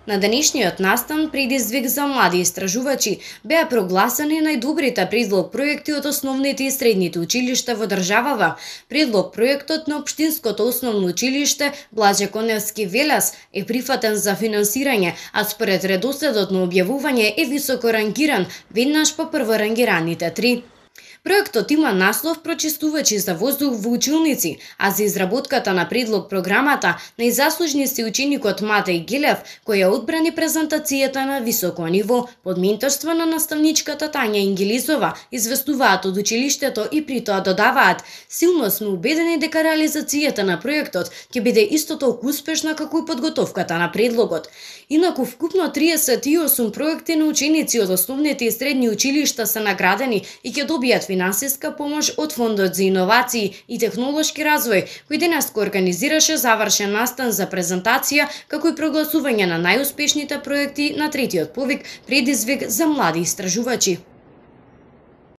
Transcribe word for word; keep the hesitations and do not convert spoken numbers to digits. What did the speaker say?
На денешниот настан предизвик за млади истражувачи беа прогласени најдобрите предлог проекти од основните и средните училишта во државава. Предлог проектот на Општинското основно училиште Блаже Коневски Велес е прифатен за финансирање, а според редоследот на објавување е високо рангиран, веднаш по прворангираните три. Проектот има наслов Прочистувачи за воздух во училници, а за изработката на предлог програмата најзаслужни се ученикот Матеј Гелев, која одбрани презентацијата на високо ниво под менторство на наставничката Тања Ингелизова, известуваат од училиштето и при тоа додаваат: силно сме убедени дека реализацијата на проектот ќе биде исто толку успешна како и подготовката на предлогот. Инаку вкупно триесет и осум проекти на ученици од основните и средни училишта се наградени и ќе добијат финансиска помош од Фондот за иновации и технолошки развој, кој денеска организираше завршен настан за презентација како и прогласување на најуспешните проекти на третиот повик предизвик за млади истражувачи.